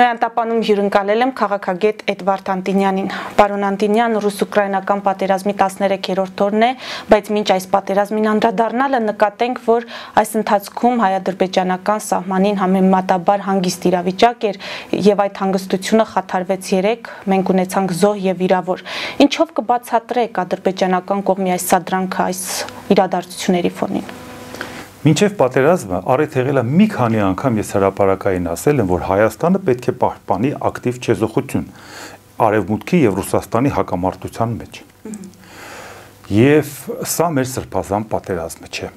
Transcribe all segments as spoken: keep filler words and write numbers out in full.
Նոյան տապանում հյուրընկալել եմ քաղաքագետ Էդվարդ Անտինյանին։ Պարոն Անտինյան, ռուս-ուկրաինական պատերազմի տասներեքերորդ օրն է, բայց մինչ այս պատերազմին անդրադառնալը նկատենք, որ այս ընթացքում հայ-ադրբեջանական սահմանին համեմատաբար հանգիստ իրավիճակ էր եւ այդ հանգստությունը խաթարվեց երեք, մենք ունեցանք զոհ եւ վիրավոր։ Ինչով կբացատրեք ադրբեջանական կողմի այս սադրանքը այս իրադարձությունների ֆոնին։ Մինչև պատերազմը առիթ եղել է մի քանի անգամ ես հրապարակային ասել եմ, որ Հայաստանը պետք է պահպանի ակտիվ չեզոքություն Արևմուտքի եւ Ռուսաստանի հակամարտության մեջ։ Եվ սա մեր սրբազան պատերազմը չէ։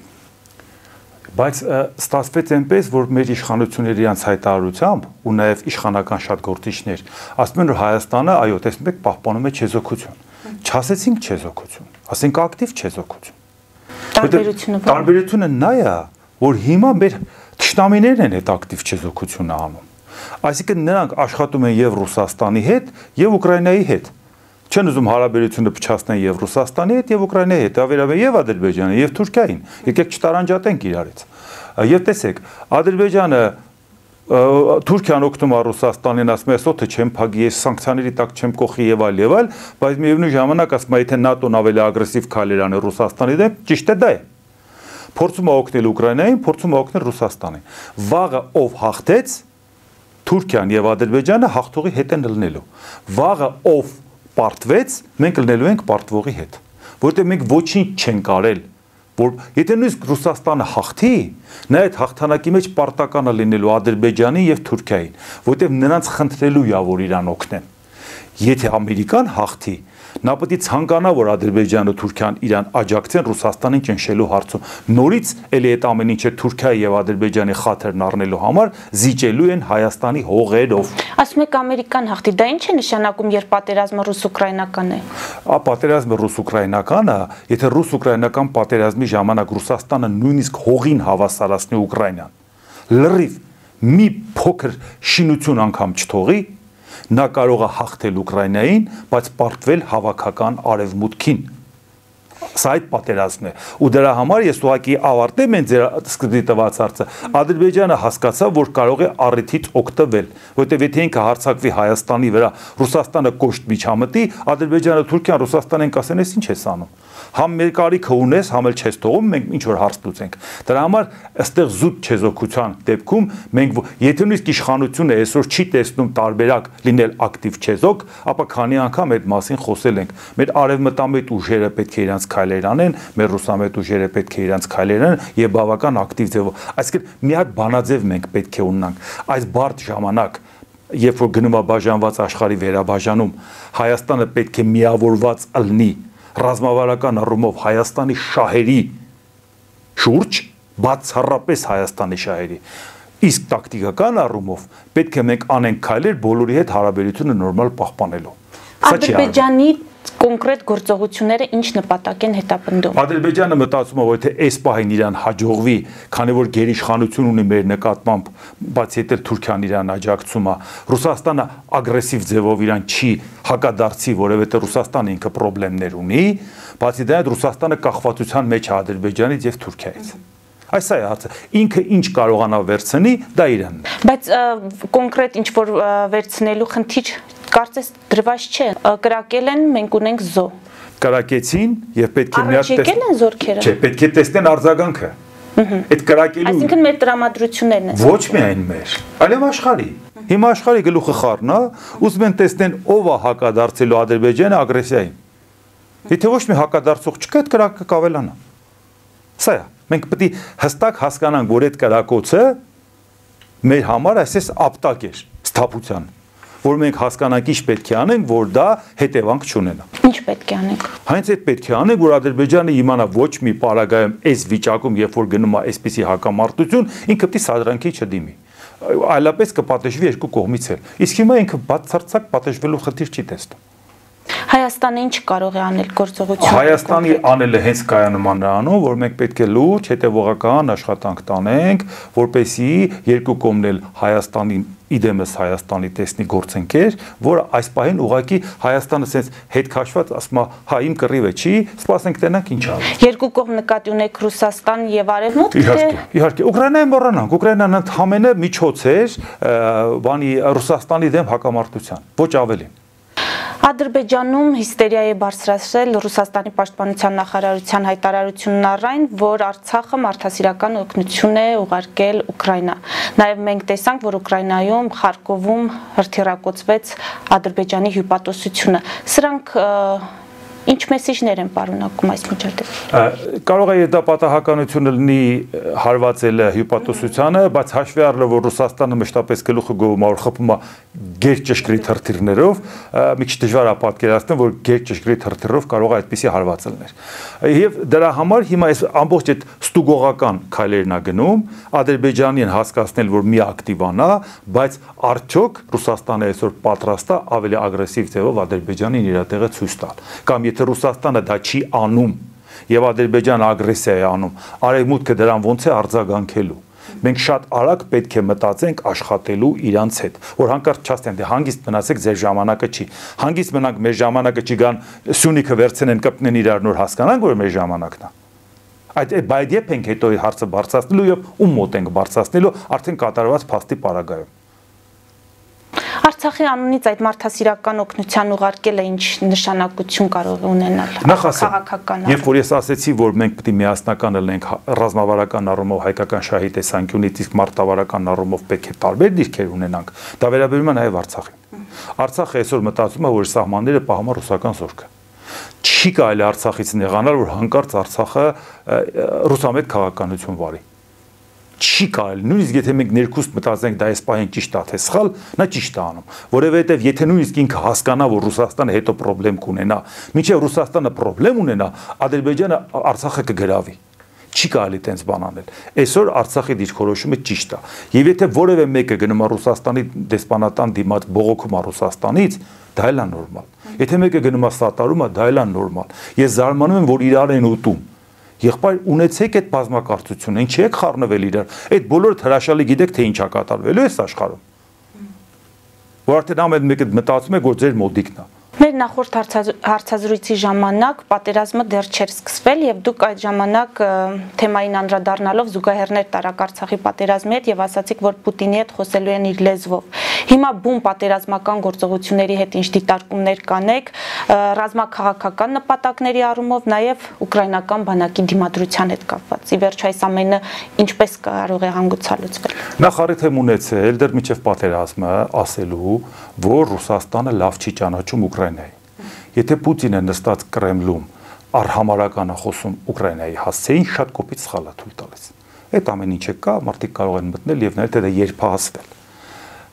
Բայց ստացվեց այնպես, որ մեր իշխանությունների իրանց հայտարարությամբ ու նաեւ իշխանական շատ գործիչներ ասում են, որ Հայաստանը, այո, տեսնում եք, պահպանում է չեզոքություն։ Չասեցինք չեզոքություն, ասենք ակտիվ չեզոքություն։ Տարբերությունը Տարբերությունը նա է, որ հիմա մեր թշնամիներն են այդ ակտիվ չեզոքությունը անում։ Այսինքն նրանք աշխատում են եւ Ռուսաստանի հետ, եւ Ուկրաինայի հետ։ Չեն ուզում հարաբերությունը փչացնեն եւ Ռուսաստանի հետ, եւ Ուկրաինայի հետ, ավերավե եւ Ադրբեջանը, եւ Թուրքիային։ Եկեք չտարանջատենք իրարից։ Եվ տեսեք, Ադրբեջանը Թուրքիան օգնում է Ռուսաստանին, ասում է, «Սոթը չեմ փակի, ես սանկցիաների տակ չեմ կողի եւ այլ եւ այլ», բայց միևնույն ժամանակ ասում է, եթե ՆԱՏՕ-ն ավելի ագրեսիվ քայլեր անի Ռուսաստանի դեմ, ճիշտ է դա է։ Փորձում է օգնել Ուկրաինային, փորձում է օգնել Ռուսաստանին։ Վաղը ով հաղթեց, Թուրքիան եւ Ադրբեջանը հաղթողի հետ են լինելու։ Վաղը ով պարտվեց, մենք լինելու ենք պարտվողի հետ, որովհետեւ մենք ոչինչ չենք արել, որ եթե նույնիսկ Ռուսաստանը հաղթի, նա այդ հաղթանակի մեջ պարտական է լինելու Ադրբեջանի եւ Թուրքիային, որովհետեւ նրանց խնդրելու է, որ իրան օգնեն։ Եթե Ամերիկան հաղթի, նա պետք է ցանկանա, որ Ադրբեջանը ու Թուրքիան իրան աջակցեն Ռուսաստանին ճնշելու հարցում։ Նորից էլի այդ ամեն ինչը Թուրքիայի եւ Ադրբեջանի խաթերն առնելու համար զիջելու են Հայաստանի հողերով։ Ասում եք Ամերիկան հաղթի, դա ինչ է նշանակում, երբ պատերազմը ռուս-ուկրաինական է։ Ա պատերազմը ռուս-ուկրաինականը, եթե ռուս-ուկրաինական պատերազմի ժամանակ Ռուսաստանը նույնիսկ հողին հավասարացնի Ուկրաինան, լրիվ մի փոքր շինություն անգամ չթողի, նա կարող է հաղթել Ուկրաինային, բայց պարտվել հավաքական արևմուտքին։ Սա այդ պատերազմն է։ Ու դրա համար ես ուղղակի ավարտեմ են ձեր սկզբի տված հարցը։ Ադրբեջանը հասկացավ, որ կարող է առիթից օգտվել, որովհետև եթե ինքը հարձակվի Հայաստանի վրա, Ռուսաստանը կոշտ միջամտի, Ադրբեջանը, Թուրքիան, Ռուսաստանին կասեն, «Էս ինչ ես անում»։ Համ մեր կարիքը ունես, համ էլ չես թողում, մենք ինչ որ հարց լուծենք։ Դրա համար այստեղ զուտ չեզոքության դեպքում մենք եթե նույնիսկ իշխանությունը այսօր չի տեսնում տարբերակ լինել ակտիվ չեզոք, ապա քանի անգամ այդ մասին խոսել ենք։ Մեր արևմտամետ ուժերը պետք է իրանց քայլեր անեն, մեր ռուսամետ ուժերը պետք է իրանց քայլեր անեն եւ բավական ակտիվ ձևով։ Այսինքն մի հատ բանաձև մենք պետք է ունենանք։ Այս բարդ ժամանակ, երբ որ գնում է բաժանված աշխարհի վերաբաժանում, Հայաստանը պետք է միավորված լինի ռազմավարական առումով Հայաստանի շահերի շուրջ, բացառապես Հայաստանի շահերի։ Իսկ տակտիկական առումով պետք է մենք անենք քայլեր բոլորի հետ հարաբերությունը նորմալ պահպանելու։ Ադրբեջանի կոնկրետ գործողությունները ինչ նպատակ են հետապնդում։ Ադրբեջանը մտածում է, որ եթե այս պահին իրան հաջողվի, քանի որ գերիշխանություն ունի մեր նկատմամբ, բացի այդ Թուրքիան իրան աջակցում է, Ռուսաստանը ագրեսիվ ձևով իրան չի հակադարձի, որովհետեւ Ռուսաստանը ինքը խնդիրներ ունի, բացի դրանից Ռուսաստանը կախվածության մեջ է Ադրբեջանից եւ Թուրքիայից։ Այս է հարցը։ Ինքը ինչ կարողանա վերցնի, դա իրանն է։ Բայց կոնկրետ ինչ որ վերցնելու խնդիր կարծես դրված չէ։ Կրակել են, մենք ունենք զո։ Կրակեցին եւ պետք է միած տեսնեն են զորքերը։ Չէ, պետք է տեսնեն արձագանքը։ Այդ կրակելու Այսինքն մեր տրամադրություններն են։ Ոչ միայն մեր, այլև աշխարհի։ Հիմա աշխարհի գլուխը խառն է, ուզում են տեսնեն ով է հակադարձելու Ադրբեջանը ագրեսիային։ Եթե ոչ մի հակադարձող չկա, այդ կրակը կավելանա։ Սա է։ Մենք պետք է հստակ հասկանանք, որ այդ կրակոցը մեր համար այսպես ապտակ է սթափության, որ մենք հասկանանք ինչ պետք է անենք, որ դա հետևանք չունենա։ Ինչ պետք է անենք։ Հենց այդ պետք է անենք, որ Ադրբեջանը իմանա ոչ մի պարագայում այս վիճակում, երբ որ գնում է այսպիսի հակամարտություն, ինքը պետք է սադրանքի չդիմի։ Այլապես կպատժվի երկու կողմից էլ։ Իսկ հիմա ինքը բացարձակ պատժվելու խնդիր չի տեսնում։ Հայաստանը ինչ կարող է անել գործողություն։ Հայաստանի անելը հենց կայանում է նրանում, որ մենք պետք է լուրջ հետևողական աշխատանք տանենք, որպեսզի երկու կողմն էլ Հայաստանի իդեմս Հայաստանի տեսնի գործընկեր, որ այս պահին ուղղակի Հայաստանը sense հետ քաշված ասում է, հա իմ կռիվը չի, սպասենք տենանք ինչ ա։ Երկու կողմ նկատի ունեք Ռուսաստան եւ Արևմուտք։ Իհարկե, իհարկե, Ուկրաինային մոռանանք, Ուկրաինան ընդհանրապես միջոց էր բանի Ռուսաստանի դեմ հակամարտության, ոչ ավելի։ Ադրբեջանում հիստերիա է բարձրացրել Ռուսաստանի պաշտպանության նախարարության հայտարարությունն առայն, որ Արցախը մարդասիրական օգնություն է ուղարկել Ուկրաինա։ Նաև մենք տեսանք, որ Ուկրաինայում Խարկովում հրթիռակոծվեց Ադրբեջանի հյուպատոսությունը։ Սրանք ինչ մեսիջներ են պարունակում այս միջադեպում։ Կարող է դա պատահականությունը լինի հարվածելը հյուպատոսությանը, բայց հաշվի առնելով, որ Ռուսաստանը մշտապես գլուխը գովում որ խփում է գերճշգրիտ հրթիռներով, մի քիչ դժվար է պատկերացնել, որ գերճշգրիտ հրթիռով կարող է այդպիսի հարված լինել։ Եվ դրա համար հիմա այս ամբողջ այդ ստուգողական քայլերն է գնում, Ադրբեջանին հասկացնել, որ մի ակտիվանա, բայց արդյոք Ռուսաստանը այսօր պատրաստ է ավելի ագրեսիվ ձևով Ադրբեջանին իր տեղը ցույց տալ։ Կամ եթե Ռուսաստանը դա չի անում եւ Ադրբեջանը ագրեսիա է անում, Արևմուտքը դրան ոնց է արձագանքելու։ Մենք շատ արագ պետք է մտածենք աշխատելու իրանց հետ, որ հանկարծ չասեն, դե հանգիստ մնացեք, ձեր ժամանակը չի։ Հանգիստ մնանք, մեր ժամանակը չի, գան Սյունիքը վերցնեն, կպնեն իրար նոր հասկանանք, որ մեր ժամանակն է։ Այդ բայց երբ ենք հետո հարցը բարձրացնելու եւ ում մոտ ենք բարձրացնելու, արդեն կատարված փաստի պարագայում։ Արցախի անունից այդ մարդասիրական օգնության ուղարկելը ինչ նշանակություն կարող է ունենալ քաղաքական։ Երբ որ ես ասեցի, որ մենք պետք է միասնական լինենք ռազմավարական առումով հայկական շահի տեսանկյունից, իսկ մարտավարական առումով պետք է տարբեր դիրքեր ունենանք, դա վերաբերում է նաև Արցախին։ Արցախը այսօր մտածում է, որ սահմանները պահում է ռուսական զորքը։ Չի կարելի Արցախից նեղանալ, որ հանկարծ Արցախը ռուսամետ քաղաքականություն վարի։ Չի կարելի, նույնիսկ եթե մենք ներքուստ մտածենք դա այս պահին ճիշտ է թե սխալ, նա ճիշտ է անում, որովհետև եթե նույնիսկ ինքը հասկանա, որ Ռուսաստանը հետո խնդրեմ կունենա, մինչև Ռուսաստանը խնդրեմ ունենա, Ադրբեջանը Արցախը կգրավի։ Չի կարելի տենց բան անել։ Այսօր Արցախի դիրքորոշումը ճիշտ է։ Եվ եթե որևէ մեկը գնում է Ռուսաստանի դեսպանատան դիմաց բողոքում է Ռուսաստանից, դա էլ է նորմալ։ Եթե մեկը գնում է սատարում է, դա էլ է նորմալ։ Ես զարմանում եմ, որ իրար են ուտում։ Եղբայր ունեցեք այդ բազմակարծությունը, ինչի եք խառնվել իրար։ Այդ բոլորը հրաշալի գիտեք, թե ինչ է կատարվելու այս աշխարհում։ Որ արդեն ամեն մեկը մտածում է, որ ձեր մոդիկն է։ Մեր նախորդ հարցազրույցի ժամանակ պատերազմը դեռ չէր սկսվել եւ դուք այդ ժամանակ թեմային անդրադառնալով զուգահեռներ տարաք Արցախի պատերազմի հետ եւ ասացիք, որ Պուտինի հետ խոսելու են իր լեզվով։ Հիմա բուն պատերազմական գործողությունների հետ ինչ դիտարկումներ կանեք, ռազմաքաղաքական նպատակների առումով, նաեւ ուկրաինական բանակի դիմադրության հետ կապված։ Ի վերջո այս ամենը ինչպես կարող է հանգուցալուծվել։ Նախ առիթ եմ ունեցել դեռ միջև պատերազմը ասելու, որ Ռուսաստանը լավ չի ճանաչում Ուկրաինայի։ Եթե Պուտինը նստած Կրեմլում արհամարական է խոսում Ուկրաինայի հասցեին, շատ կոպիտ սխալ է թույլ տալիս։ Այդ ամեն ինչը կա, մարդիկ կարող են մտնել եւ նայել թե դա երբ է հասվել։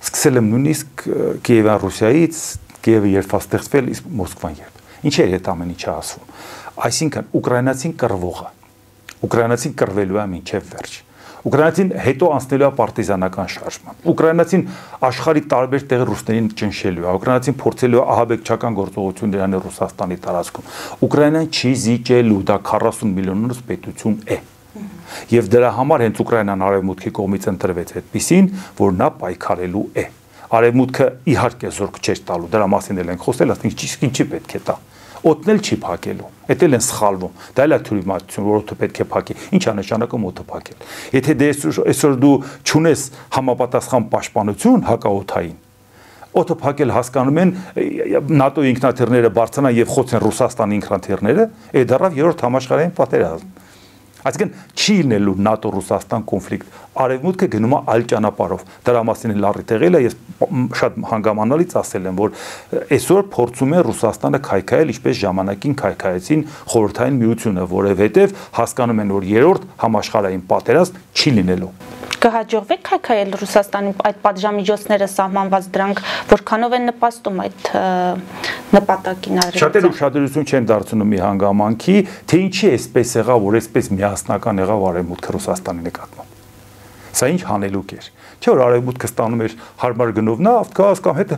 Սկսել եմ նույնիսկ Կիևյան Ռուսիայից, Կիևը երբ է ստեղծվել, իսկ Մոսկվան երբ։ Ինչ է այդ ամեն ինչը ասվում։ Այսինքն ուկրաինացին կռվողը, ուկրաինացին կռվելու է մինչև վերջ։ Ուկրաինացին հետո անցնելու է պարտիզանական շարժման։ Ուկրաինացին աշխարհի տարբեր տեղի ռուսներին ճնշելու է։ Ուկրաինացին փորձելու է ահաբեկչական գործողություններ անել Ռուսաստանի տարածքում։ Ուկրաինան չի զիջելու, դա քառասուն միլիոնից պետություն է։ Եվ դրա համար հենց Ուկրաինան արևմուտքի կողմից ընտրվեց այդպիսին, որ նա պայքարելու է։ Արևմուտքը իհարկե զորք չէր տալու, դրա մասին էլ ենք խոսել, ասենք իսկ ինչի պետք է տա։ Օդնել չի փակելու։ Էդ էլ են սխալվում։ Դա էլ է թյուրիմացություն, որ օդը պետք է փակի։ Ինչ է նշանակում օդը փակել։ Եթե դե այսօր դու չունես համապատասխան պաշտպանություն հակաօդային, օդը փակել հասկանում են ՆԱՏՕ ինքնաթիռները բարձրանան եւ խոցեն Ռուսաստանի ինքնաթիռները, այդ դեռավ երրորդ համաշխարհային պատերազմ։ Այսինքն չի լինելու ՆԱՏՕ-Ռուսաստան կոնֆլիկտ։ Արևմուտքը գնում է այլ ճանապարհով։ Դրա մասին էլ առիթ եղել է, ես շատ հանգամանալից ասել եմ, որ այսօր փորձում է Ռուսաստանը քայքայել, ինչպես ժամանակին քայքայեցին Խորհրդային Միությունը, որովհետև հասկանում են, որ երրորդ համաշխարհային պատերազմ չի լինելու։ Կհաջողվի քայքայել Ռուսաստանի այդ պատժամիջոցները սահմանված դրանք որքանով են նպաստում այդ նպատակին արևելքը։ Շատերը ուշադրություն չեն դարձնում մի հանգամանքի, թե ինչի էսպես եղավ, որ էսպես միասնական եղավ արևմուտքը Ռուսաստանի նկատմամբ։ Սա ինչ հանելուկ էր։ Չէ՞ որ արևմուտքը ստանում էր հարմար գնով նավթ, գազ կամ հետ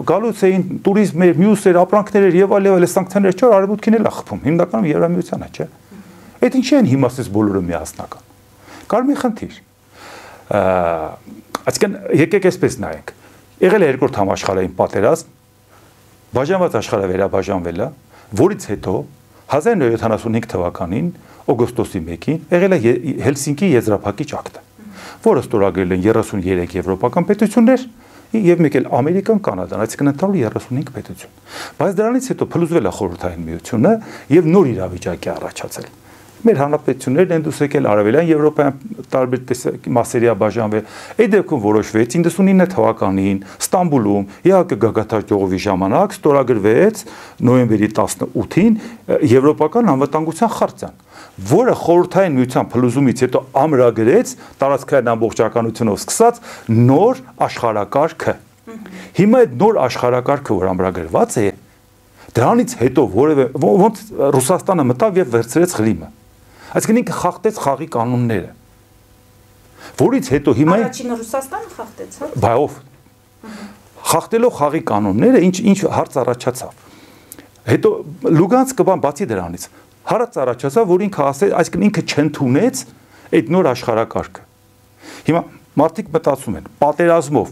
գալուց էին տուրիզմ էր, մյուս էր, ապրանքներ էր եւ այլ եւ այլ սանկցիաներ, չէ՞ որ արևմուտքին էլ է խփում։ Հիմնականում Եվրամիությանը, չէ՞։ Այդ ինչի են հիմա ասես բոլորը միասնական։ Կար մի խնդիր։ Այսինքն եկեք այսպես նայենք։ եղել է երկրորդ համաշխարհային պատերազմ, բաժանված աշխարհը վերաբաժանվել է, որից հետո հազար նույնսուն յոթանասունհինգ թվականին օգոստոսի մեկին եղել է Հելսինկի եզրափակիչ ակտը, որը ստորագրել են երեսունյերեք եվրոպական պետություններ եւ մեկ էլ Ամերիկան, Կանադան, այսինքն ընդհանուր երեսունհինգ պետություն։ Բայց դրանից հետո փլուզվել է խորհրդային միությունը եւ նոր իրավիճակ է առաջացել։ Մեր հանրապետություններն են դուրս եկել արևելյան Եվրոպայական տարբեր մասերի բաժանվել։ Այդ դեպքում որոշվեց իննսունինը թվականին Ստամբուլում Է Հ Կ գագաթար ժողովի ժամանակ ստորագրվեց նոյեմբերի տասնութին Եվրոպական անվտանգության խարտիան, որը խորհրդային միության փլուզումից հետո ամրագրեց տարածքային ամբողջականությունով սկսած նոր աշխարհակարգը։ Հիմա այդ նոր աշխարհակարգը, որ ամրագրված է, դրանից հետո որևէ ոնց Ռուսաստանը մտավ եւ վերցրեց Ղրիմը։ Այսինքն ինքը խախտեց խաղի կանոնները, որից հետո հիմա առաջինը Ռուսաստանը խախտեց, հա։ Բայով խախտելով խաղի կանոնները ինչ ինչ հարց առաջացավ։ Հետո Լուգանսկը բան բացի դրանից հարց առաջացավ, որ ինքը ասել, այսինքն ինքը չընդունեց այդ նոր աշխարհակարգը։ Հիմա մարդիկ մտածում են, պատերազմով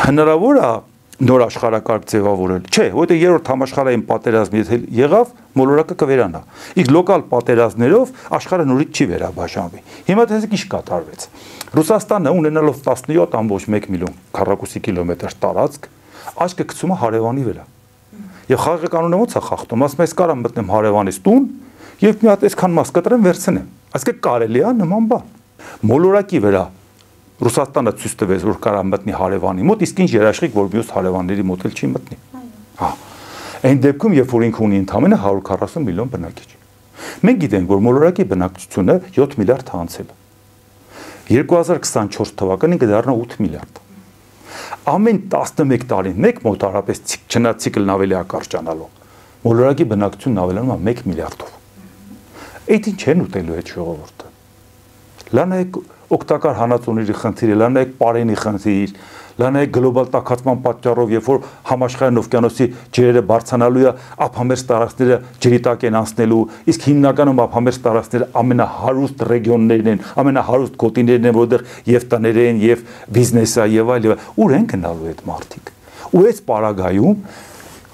հնարավոր է նոր աշխարհակարգ ձևավորել։ Չէ, որովհետեւ երրորդ համաշխարհային պատերազմը եթե եղավ, մոլորակը կվերանա։ Իսկ լոկալ պատերազմներով աշխարհը նորից չի վերաբաժանվի։ Հիմա տեսեք ինչ կատարվեց։ Ռուսաստանը ունենալով տասնյոթ կόμμα մեկ միլիոն քառակուսի կիլոմետր տարածք, աչքը գցում է հարևանի վրա։ Եվ խաղի կանոնը ո՞նց է խախտում, ասում ես կարամ մտնեմ հարևանից տուն եւ մի հատ այսքան մաս կտրեմ վերցնեմ։ Այսինքն կարելի է նման բան։ Մոլորակի վրա Ռուսաստանը ցույց տվեց, որ կարա մտնի հարևանի մոտ, իսկ ինչ երաշխիք, որ մյուս հարևանների մոտ էլ չի մտնի։ Հա։ Այն դեպքում, երբ որ ինքը ունի ընդամենը հարյուր քառասուն միլիոն բնակիչ։ Մենք գիտենք, որ մոլորակի բնակչությունը յոթ միլիարդ է անցել։ երկու հազար քսանչորս թվականին կդառնա ութ միլիարդ։ Ամեն տասնմեկ տարին մեկ մոտարապես չնացիկլն ավելի է կարճանալու։ Մոլորակի բնակչությունն ավելանում է մեկ միլիարդով։ Այդ ինչ են ուտելու այդ ժողովուրդը։ Լանայեք օգտակար հանածոների խնդիրը, լանայեք պարենի խնդիր, լանայեք գլոբալ տաքացման պատճառով, երբ որ համաշխարհային օվկիանոսի ջրերը բարձրանալու է, ափամերձ տարածքները ջրի տակ են անցնելու, իսկ հիմնականում ափամերձ տարածքները ամենահարուստ ռեգիոններն են, ամենահարուստ գոտիներն են, որտեղ եւ տներ են, եւ բիզնես է, եւ այլ, ուր են գնալու այդ մարդիկ։ Ու այս պարագայում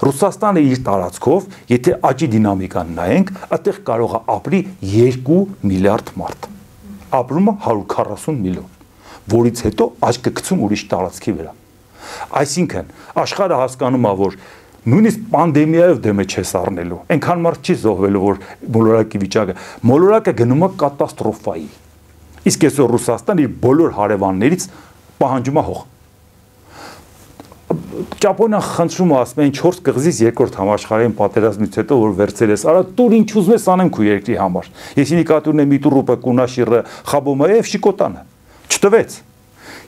Ռուսաստանը իր տարածքով, եթե աճի դինամիկան նայենք, այդտեղ կարող է ապրի երկու միլիարդ մարդ։ Ապրում է հարյուր քառասուն միլիոն, որից հետո աչքը գցում ուրիշ տարածքի վրա։ Այսինքն աշխարհը հասկանում է, որ նույնիսկ պանդեմիայով դեմը չես առնելու, այնքան մարդ չի զոհվելու, որ մոլորակի վիճակը, մոլորակը գնում է կատաստրոֆայի։ Իսկ այսօր Ռուսաստանը իր բոլոր հարևաններից պահանջում է հող։ Ճապոնիան խնդրում է, ասում են չորս կղզից երկրորդ համաշխարհային պատերազմից հետո որ վերցել ես, արա տուր ինչ ուզում ես անեմ քո երկրի համար։ Ես ինիկատուրն եմ Միտուրուպը, Կունաշիրը, Խաբոմայև, Շիկոտանը։ Չտվեց։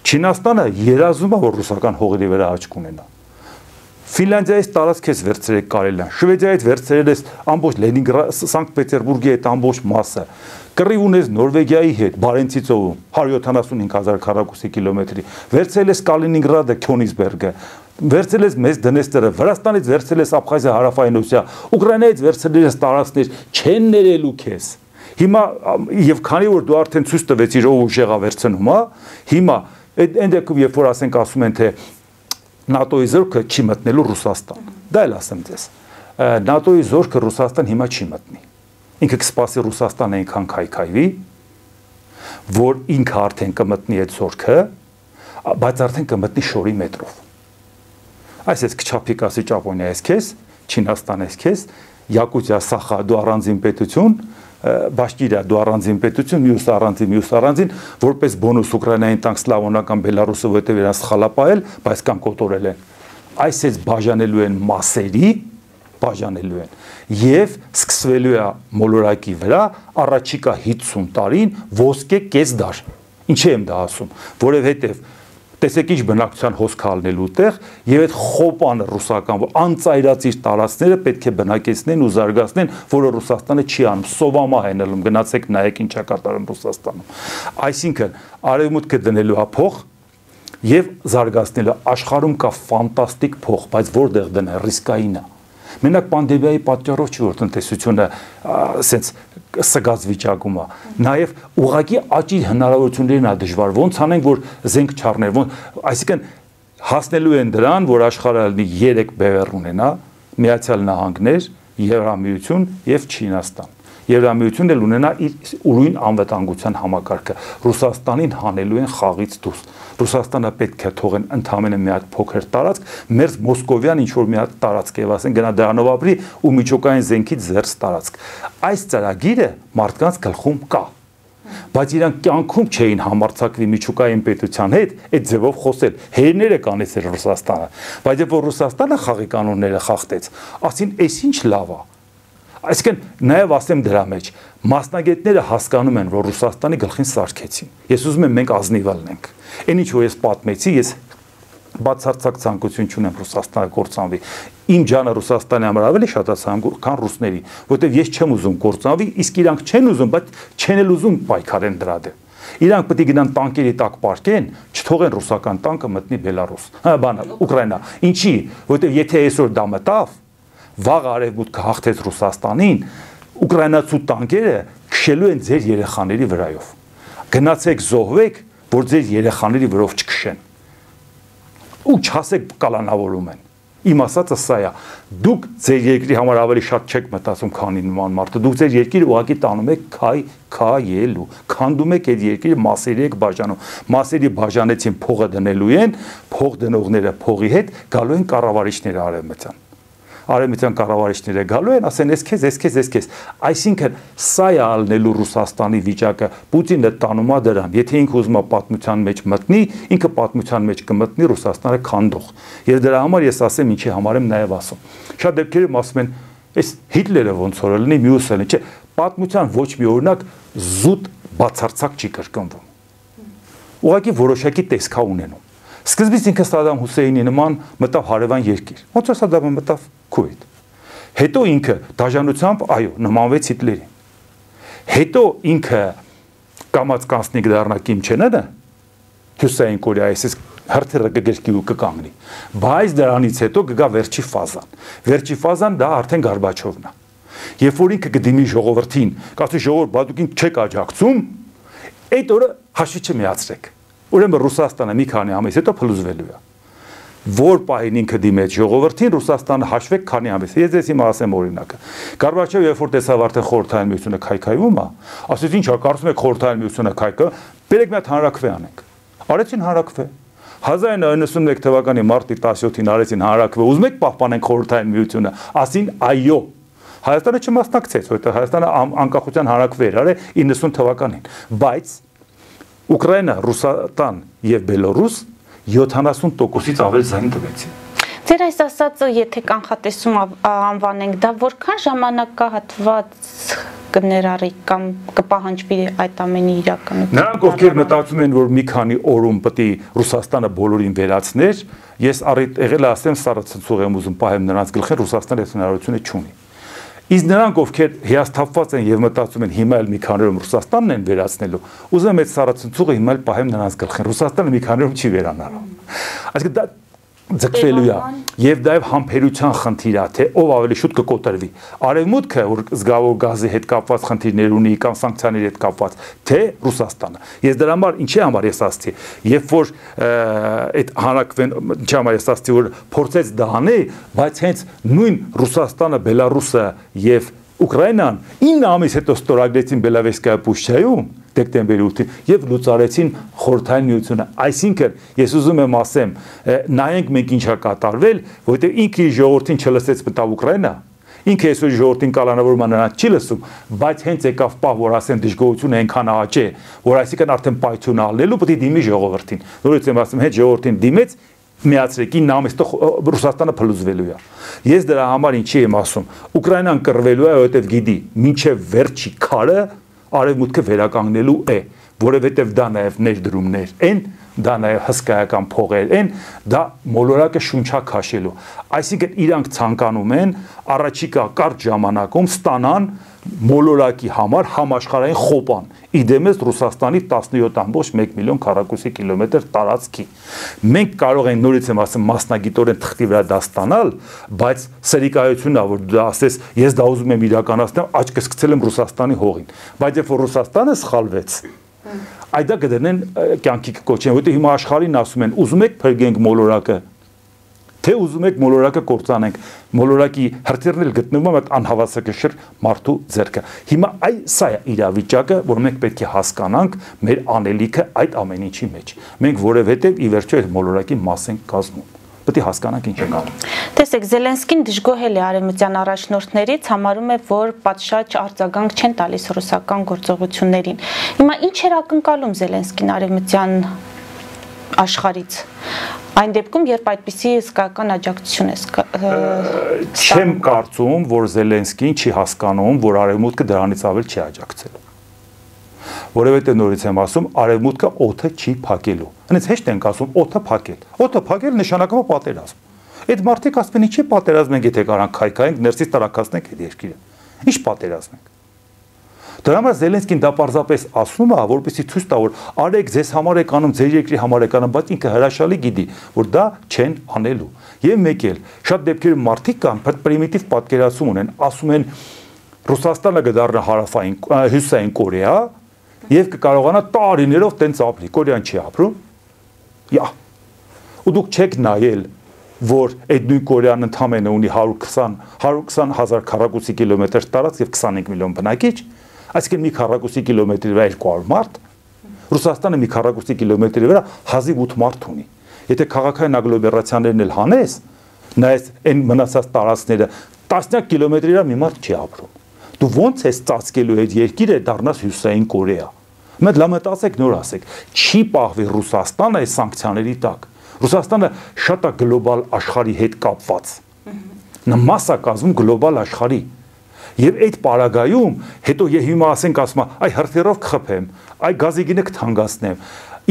Չինաստանը երազում է, որ ռուսական հողերի վրա աչք ունենա։ Ֆինլանդիայից տարածք ես վերցրել կարելան, Շվեդիայից վերցրել ես ամբողջ Լենինգրադ, Սանկտ Պետերբուրգի այդ ամբողջ մասը, կռիվ ունես Նորվեգիայի հետ, Բարենցի ծովում, հարյուր յոթանասունհինգ հազար քառակուսի կիլոմետրի, վերցրել ես Կալինինգրադը, Քյոնիզբերգը, վերցրել ես մեծ Դնեստրը, Վրաստանից վերցրել ես Աբխազիա, Հարավային Օսիա, Ուկրաինայից վերցրել ես տարածքներ, չեն ներելու քեզ։ Հիմա եւ քանի որ դու արդեն ցույց տվեցիր ով ուժեղա վերցնում, հա, հիմա այդ դեպքում երբ որ ասենք ասում են թե ՆԱՏՕ-ի զորքը չի մտնելու Ռուսաստան։ Դա էլ ասեմ ձեզ։ ՆԱՏՕ-ի զորքը Ռուսաստան հիմա չի մտնի։ Ինքը կսպասի Ռուսաստանը այնքան քայքայվի, որ ինքը արդեն կմտնի այդ զորքը, բայց արդեն կմտնի շորի մետրով։ Այսպես քչափիկ ասի Ճապոնիա ես քեզ, Չինաստան ես քեզ, Յակուտիա, Սախա դու առանձին պետություն, Բաշկիրիա դու առանձին պետություն, մյուս առանձին, մյուս առանձին, որպես բոնուս Ուկրաինային տանք սլավոնական Բելարուսը որտեղ իրաց սխալապայել, բայց կան կոտորել են։ Այսպես բաժանելու են մասերի, բաժանելու են եւ սկսվելու է մոլորակի վրա առաջիկա հինգ տարին ոսկե կեսդար։ Ինչի եմ դա ասում, որովհետեւ տեսեք ինչ բնակչության հոսք հալնելու տեղ եւ այդ խոպանը ռուսական անծայրացիր տարածքները պետք է բնակեցնեն ու զարգացնեն, որը Ռուսաստանը չի անում, սովամա հենելում, գնացեք նայեք ինչա կատարում Ռուսաստանում։ Այսինքն արևմուտքը դնելու է փող եւ զարգացնելու աշխարհում կա ֆանտաստիկ փող, բայց որտեղ դնեն ռիսկային է։ Մենակ պանդեմիայի պատճառով չի որ տնտեսությունը ասենց սգած վիճակում է։ Նաև ուղղակի աճի հնարավորություններն է դժվար։ Ոնց անենք որ զենք չառներ, այսինքն հասնելու են դրան, որ աշխարհը լինի երեք բևեռ ունենա, Միացյալ Նահանգներ, Եվրամիություն եւ Չինաստան։ Եվրամիությունն էլ ունենա իր ուրույն անվտանգության համակարգը։ Ռուսաստանին հանելու են խաղից դուրս։ Ռուսաստանը պետք է թողեն ընդամենը մի հատ փոքր տարածք, մեր Մոսկովյան ինչ որ մի հատ տարածք եւ ասեն գնա դրանով ապրի ու միջուկային զենքից զերծ տարածք։ Այս ծրագիրը մարդկանց գլխում կա։ Բայց իրանք կյանքում չէին համարձակվի միջուկային պետության հետ այդ ձևով խոսել։ Հերները կանեցել Ռուսաստանը։ Բայց երբ որ Ռուսաստանը խաղի կանոնները խախտեց, ասին, «Էս ինչ լավ է»։ Այսինքն նաև ասեմ դրա մեջ մասնագետները հասկանում են, որ Ռուսաստանի գլխին սարքեցին։ Ես ուզում եմ մենք ազնիվ լինենք։ Այն ինչ որ ես պատմեցի, ես բացարձակ ցանկություն չունեմ Ռուսաստանը կործանվի։ Իմ ջանը Ռուսաստանի համար ավելի շատ է ցանկում, քան ռուսների, որովհետև ես չեմ ուզում կործանվի, իսկ իրանք չեն ուզում, բայց չեն էլ ուզում պայքարեն դրա դեմ։ Իրանք պետք է գնան տանկերի տակ պարկեն, չթողեն ռուսական տանկը մտնի Բելարուս։ Հա, բան, Ուկրաինա։ Ինչի, որովհետև եթե այսօր դա մտավ, վաղ արևմուտքը հաղթեց Ռուսաստանին, ուկրաինացու տանկերը քշելու են ձեր երեխաների վրայով։ Գնացեք զոհվեք, որ ձեր երեխաների վրով չքշեն։ Ու չասեք կալանավորում են։ Իմ ասածը սա է։ Դուք ձեր երկրի համար ավելի շատ չեք մտածում, քան նման մարդը։ Դուք ձեր երկիրը ուղղակի տանում եք քայ քայելու։ Քանդում եք այդ երկիրը մասերի եք բաժանում։ Մասերի բաժանեցին փողը դնելու են, փող դնողները փողի հետ գալու են կառավարիչները արևմտյան։ Արևմտյան կառավարիչները գալու են, ասեն, «Էս քեզ, էս քեզ, էս քեզ»։ Այսինքն սա է ալնելու Ռուսաստանի վիճակը։ Պուտինը տանում է դրան։ Եթե ինքը ուզում է պատմության մեջ մտնի, ինքը պատմության մեջ կմտնի Ռուսաստանը քանդող։ Եվ դրա համար ես ասեմ, ինչի համար եմ նաև ասում։ Շատ դեպքերում ասում են, «Էս Հիտլերը ոնց որ լինի, մյուսը լինի»։ Չէ, պատմության ոչ մի օրինակ զուտ բացարձակ չի կրկնվում։ Ուղղակի որոշակի տեսքա ունենում։ Սկզբից ինքը Սադամ Հուսեյնի նման մտավ հարևան երկիր։ Ոնց որ Սադամը մտավ Քուվեյթ։ Հետո ինքը դաժանությամբ, այո, նմանվեց Հիտլերին։ Հետո ինքը կամած կանցնիկ դառնա Կիմ Չեն Ընը, Հյուսային Կորեայից հրթիռը կգրկի ու կկանգնի։ Բայց դրանից հետո կգա վերջի ֆազան։ Վերջի ֆազան դա արդեն Գորբաչովն է։ Երբ որ ինքը կդիմի ժողովրդին, կասի ժողովուրդ, բա դուք ինձ չեք աջակցում, այդ օրը հաշվի չմիացրեք։ Ուրեմն Ռուսաստանը մի քանի ամիս հետո փլուզվելու է։ Որ պահին ինքը դիմեց ժողովրդին, Ռուսաստանը հաշվեք քանի ամիս։ Ես ձեզ հիմա ասեմ օրինակը։ Գորբաչովը երբ որ տեսավ արդեն խորհրդային միությունը քայքայվում է, ասեց ինչ է, կարծում եք խորհրդային միությունը քայքը, բերեք մի հատ հանրաքվե անենք։ Արեցին հանրաքվե։ հազար նույնսուն նույնսուն թվականի մարտի տասնյոթին արեցին հանրաքվե, ուզում եք պահպանենք խորհրդային միությունը, ասին այո։ Հայաստանը չմասնակցեց, որովհետև Հայաստանը անկախության հանրաքվե էր արել իննսուն թվականին, բայց Ուկրաինա, Ռուսաստան եւ Բելարուս յոթանասուն տոկոսից ավել զայն տվեցին։ Ձեր այս ասածը, եթե կանխատեսում անվանենք, դա որքան ժամանակահատված կներառի կամ կպահանջվի այդ ամենի իրականություն։ Նրանք ովքեր մտածում են, որ մի քանի օրում պետք է Ռուսաստանը բոլորին վերացներ, ես առիթ եղել ասեմ սառացնցուղ եմ ուզում պահեմ նրանց գլխին, Ռուսաստանը այդ հնարավորությունը չունի։ Իսկ նրանք ովքեր հիասթափված են եւ մտածում են հիմա էլ մի քանի օրում Ռուսաստանն են վերացնելու, ուզում եմ այդ սառացնցուղը հիմա էլ պահեմ նրանց գլխին, Ռուսաստանը մի քանի օրում չի վերանալու։ Այսինքն դա ձգվելու է եւ դա եւ համբերության խնդիր է, թե ով ավելի շուտ կկոտրվի։ Արևմուտքը, որ զգավոր գազի հետ կապված խնդիրներ ունի կամ սանկցիաների հետ կապված, թե Ռուսաստանը։ Ես դրա համար ինչի համար ես ասացի, երբ որ այդ հանրաքվեն, ինչի համար ես ասացի, որ փորձեց դա անի, բայց հենց նույն Ռուսաստանը, Բելարուսը եւ Ուկրաինան ինը ամիս հետո ստորագրեցին Բելավեսկայա Պուշչայում դեկտեմբերի ութին եւ լուծարեցին խորհրդային միությունը։ Այսինքն ես ուզում եմ ասեմ, նայենք մենք ինչա կատարվել, որովհետեւ ինքը ժողովրդին չլսեց մտավ Ուկրաինա, ինքը այսօր ժողովրդին կալանավորում է նրանց չի լսում, բայց հենց եկավ պահ, որ ասեն դժգոհությունը այնքան աճ է, որ այսինքն արդեն պայթյուն ալնելու պետք է դիմի ժողովրդին։ Նորից եմ ասում, հետ ժողովրդին դիմեց միացրեք ինը ամիս տո Ռուսաստանը փլուզվելու է։ Ես դրա համար ինչի եմ ասում, Ուկրաինան կռվելու է, որովհետև գիտի, մինչև վերջի քարը արևմուտքը վերականգնելու է, որովհետև դա նաև ներդրումներ են, դա նաև հսկայական փողեր են, դա մոլորակը շունչա քաշելու։ Այսինքն իրանք ցանկանում են առաջիկա կարճ ժամանակում ստանան մոլորակի համար համաշխարհային խոպան, իդեմես Ռուսաստանի տասնյոթ ամբողջ մեկ միլիոն քառակուսի կիլոմետր տարածքի։ Մենք կարող ենք նորից եմ ասում մասնագիտորեն թղթի վրա դա ստանալ, բայց սերիկայությունն է, որ դա ասես, ես դա ուզում եմ իրականացնել, աչքս գցել եմ Ռուսաստանի հողին, բայց երբ որ Ռուսաստանը սխալվեց, այդա կդնեն կյանքի կոչեն, որտեղ հիմա աշխարհին ասում են, ուզում եք փրկենք մոլորակը, թե ուզում եք մոլորակը կործանենք, մոլորակի հրթիռն էլ գտնվում է այդ անհավասարակշիռ մարդու ձեռքը։ Հիմա այ սա է իրավիճակը, որ մենք պետք է հասկանանք մեր անելիքը այդ ամեն ինչի մեջ։ Մենք որևէտև ի վերջո այդ մոլորակի մաս ենք կազմում։ Պետք է հասկանանք ինչ ենք անում։ Տեսեք, Զելենսկին դժգոհել է արևմտյան առաջնորդներից, համարում է, որ պատշաճ արձագանք չեն տալիս ռուսական գործողություններին։ Հիմա ինչ էր ակնկալում Զելենսկին արևմտյան աշխարհից։ Այն դեպքում, երբ այդպիսի հսկայական աջակցություն է չեմ կարծում, որ Զելենսկին չի հասկանում, որ արևմուտքը դրանից ավել չի աջակցել։ Որովհետև նորից եմ ասում, արևմուտքը օդը չի փակելու։ Հենց հեշտ ենք ասում օդը փակել։ Օդը փակել նշանակում է պատերազմ։ Այդ մարդիկ ասում են, ինչի պատերազմ ենք, եթե կարանք քայքայենք, ներսից տարակացնենք այդ երկիրը։ Ինչ պատերազմ ենք։ Դրա համար Զելենսկին դա պարզապես ասում է, որպեսզի ցույց տա, որ արեք ձեզ համար եք անում, ձեր երկրի համար եք անում, բայց ինքը հրաշալի գիտի, որ դա չեն անելու։ Եվ մեկ էլ շատ դեպքերում մարդիկ կան, պրիմիտիվ պատկերացում ունեն, ասում են Ռուսաստանը կդառնա հարավային հյուսային Կորեա եւ կկարողանա տարիներով տենց ապրի։ Կորեան չի ապրում։ Յա։ Ու դուք չեք նայել, որ այդ նույն Կորեան ընդամենը ունի հարյուր քսան հազար քառակուսի կիլոմետր տարածք եւ քսանհինգ միլիոն բնակիչ, այսինքն մի քառակուսի կիլոմետրի վրա երկու հարյուր մարդ, Ռուսաստանը մի քառակուսի կիլոմետրի վրա հազիվ ութ մարդ ունի։ Եթե քաղաքային ագլոմերացիաներն էլ հանես, նայես այն մնացած տարածքները, տասնյակ կիլոմետրի վրա մի մարդ չի ապրում։ Դու ո՞նց ես ծածկելու այդ երկիրը դառնաս հյուսային Կորեա։ Մենք լամտացեք նոր ասեք, չի պահվի Ռուսաստանը այս սանկցիաների տակ։ Ռուսաստանը շատ է գլոբալ աշխարհի հետ կապված։ Նա մաս է կազմում գլոբալ աշխարհի։ Եվ այդ պարագայում հետո եւ հիմա ասենք ասում է, այ հրթիռով կխփեմ, այ գազի գինը կթանկացնեմ։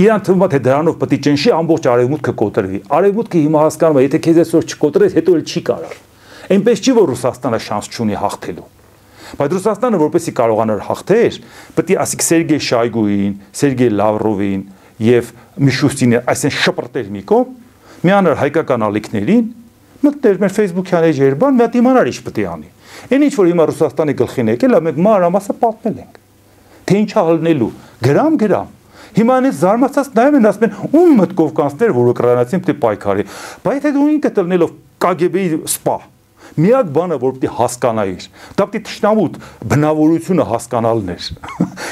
Իրան թվում է թե դրանով պետք է ճնշի ամբողջ արևմուտքը կոտրվի։ Արևմուտքը հիմա հասկանում է, եթե քեզ այսօր չկոտրես, հետո էլ չի կարող։ Այնպես չի, որ Ռուսաստանը շանս չունի հաղթելու։ Բայց Ռուսաստանը որպեսզի կարողանար հաղթեր, պետք է ասիկ Սերգեյ Շայգուին, Սերգեյ Լավրովին եւ Միշուստինը, այսինքն շպրտեր մի կողմ, միանար հայկական ալիքներին, մտներ մեր Facebook-յան էջեր բան, մի հատ իմանար ինչ պետք է անի։ Այն ինչ որ հիմա Ռուսաստանի գլխին եկել է, մենք մանրամասը պատմել ենք։ Թե ինչա հալնելու, գրամ գրամ։ Հիմա այնպես զարմացած նայում են, ասում են, ում մտքով կանցներ, որ ուկրաինացին պետք է պայքարի։ Բայց այդ դու ինքը տնելով Կ Գ B-ի սպա։ Միակ բանը, որ պետք է հասկանայիր, դա պետք է թշնամուտ բնավորությունը հասկանալն էր։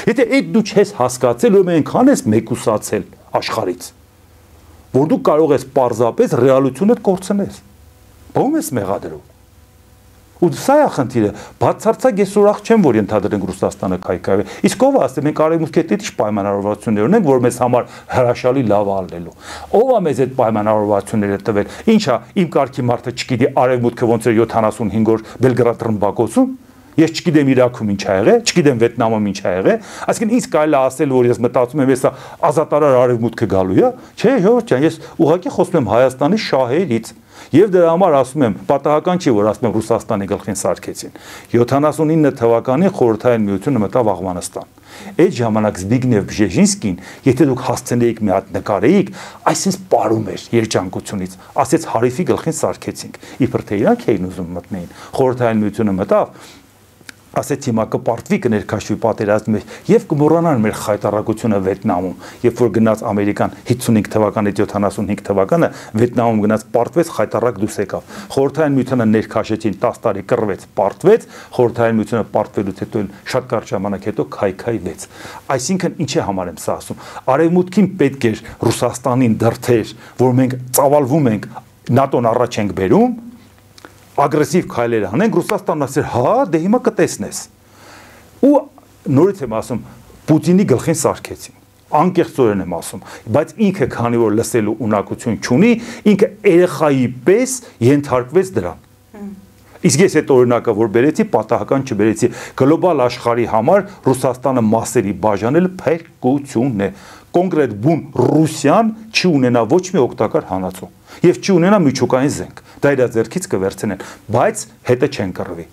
Եթե այդ դու չես հասկացել, ուրեմն այնքան ես մեկուսացել աշխարհից, որ դու կարող ես պարզապես ռեալությունը կորցնես։ Ո՞ւմ ես մեղադրում։ Ու սա է խնդիրը, բացարձակ ես ուրախ չեմ, որ ընդհանրենք Ռուսաստանը քայքայվի։ Իսկ ով ասե, մենք արևմուտքի հետ ինչ պայմանավորվածություններ ունենք, որ մեզ համար հրաշալի լավ ալնելու։ Ով է մեզ այդ պայմանավորվածությունները տվել։ Ինչա, իմ կարգի մարդը չգիտի արևմուտքը ոնց է յոթանասունհինգ օր Բելգրադ ռմբակոծում։ Ես չգիտեմ Իրաքում ինչ ա եղել, չգիտեմ Վիետնամում ինչ ա եղել, այսինքն ինձ կարելի է ասել, որ ես մտածում եմ, հեսա ազատարար արևմուտքը գալու է, չէ, ժողովուրդ ջան, ես ուղղակի խոսում եմ Հայաստանի շահերից։ Եվ դրա համար ասում եմ, պատահական չի, որ ասում եմ Ռուսաստանի գլխին սարքեցին։ յոթանասունինը թվականին Խորհրդային Միությունը մտավ Աֆղանստան։ Այդ ժամանակ Զբիգնև Բժեժինսկին, եթե դուք հասցնեիք մի հատ նկարեիք, այսպես պարում էր երջանկությունից, ասեց Հարիֆի գլխին սարքեցինք։ Իբր թե իրանք էին ուզում մտնեին։ Խորհրդային Միությունը մտավ, ասեց հիմա կպարտվի կներքաշվի պատերազմի եւ կմոռանան մեր խայտարակությունը Վիետնամում, երբ որ գնաց Ամերիկան հիսունհինգ թվականից յոթանասունհինգ թվականը Վիետնամում գնաց պարտվեց, խայտարակ դուրս եկավ։ Խորհրդային Միությունը ներքաշեցին տասը տարի կռվեց, պարտվեց, Խորհրդային Միությունը պարտվելուց հետո շատ կարճ ժամանակ հետո քայքայվեց։ Այսինքն ինչ է համար եմ սա ասում։ Արևմուտքին պետք էր Ռուսաստանին դրթեր, որ մենք ծավալվում ենք, ՆԱՏՕ-ն առաջ ենք բերում, ագրեսիվ քայլեր անենք, Ռուսաստանն ասեր, հա, դե հիմա կտեսնես։ Ու նորից եմ ասում, Պուտինի գլխին սարքեցին։ Անկեղծորեն եմ ասում, բայց ինքը քանի որ լսելու ունակություն չունի, ինքը երեխայի պես ենթարկվեց դրան։ Իսկ ես այդ օրինակը որ բերեցի, պատահական չբերեցի, գլոբալ աշխարհի համար Ռուսաստանը մասերի բաժանել փրկություն է։ Կոնկրետ բուն Ռուսիան չի ունենա ոչ մի օգտակար հանածու եւ չի ունենա միջուկային զենք։ Դա իր ձեռքից կվերցնեն, բայց հետը չեն կռվի։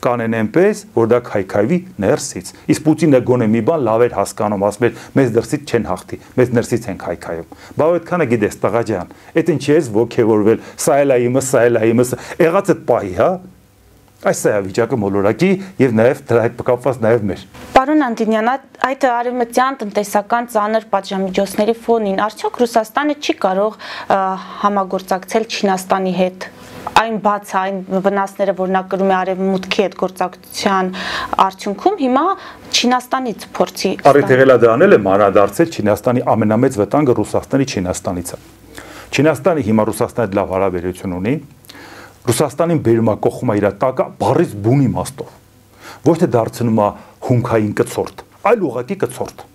Կանեն այնպես, որ դա քայքայվի ներսից։ Իսկ Պուտինը գոնե մի բան լավ էր հասկանում, ասում էր, մեզ դրսից չեն հաղթի, մեզ ներսից են քայքայում։ Բա այդքանը գիտես, տղա ջան, այդ ինչի ես ոգևորվել, սա էլ է իմը, սա էլ է իմը, եղած այդ պահի, հա։ Այս է վիճակը մոլորակի եւ նաեւ դրա հետ կապված նաեւ մեր։ Պարոն Անդինյան, այդ արևմտյան տնտեսական ծանր պատժամիջոցների ֆոնին արդյոք Ռուսաստանը չի կարող համագործակցել Չինաստանի հետ։ Այն բաց այն վնասները, որ նա կրում է արևմուտքի հետ գործակցության արդյունքում, հիմա Չինաստանից փորձի։ Առիթ եղել է դա անել է մանրադարձել Չինաստանի ամենամեծ վտանգը Ռուսաստանի Չինաստանից է։ Չինաստանը հիմա Ռուսաստանի հետ լավ հարաբերություն ունի։ Ռուսաստանին բերում է կողմը իր տակը բառից բուն իմաստով։ Ոչ թե դարձնում է հումքային կցորդ, այլ ուղղակի կցորդ։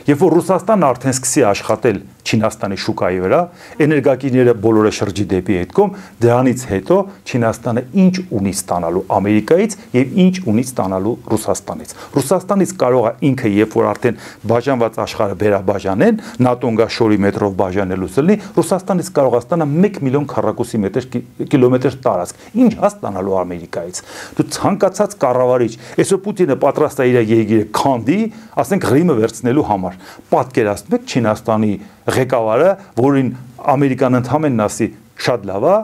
Երբ որ Ռուսաստանը արդեն սկսի աշխատել Չինաստանի շուկայի վրա, էներգակիրները բոլորը շրջի դեպի այդ կողմ, դրանից հետո Չինաստանը ինչ ունի ստանալու Ամերիկայից եւ ինչ ունի ստանալու Ռուսաստանից։ Ռուսաստանից կարող է ինքը, երբ որ արդեն բաժանված աշխարհը վերաբաժանեն, ՆԱՏՕ-ն գա շորի մետրով բաժանելուց լինի, Ռուսաստանից կարող է ստանալ մեկ միլիոն քառակուսի մետր կիլոմետր տարածք։ Ինչ է ստանալու Ամերիկայից։ Դու ցանկացած կառավարիչ, այսօր Պուտինը պատրաստ է իր երկիրը քանդի, ասենք Ղրիմը վերցնելու համար։ Պատկերացնում եք Չինաստանի ղեկավարը, որին Ամերիկան ընդհանրեն ասի շատ լավ է,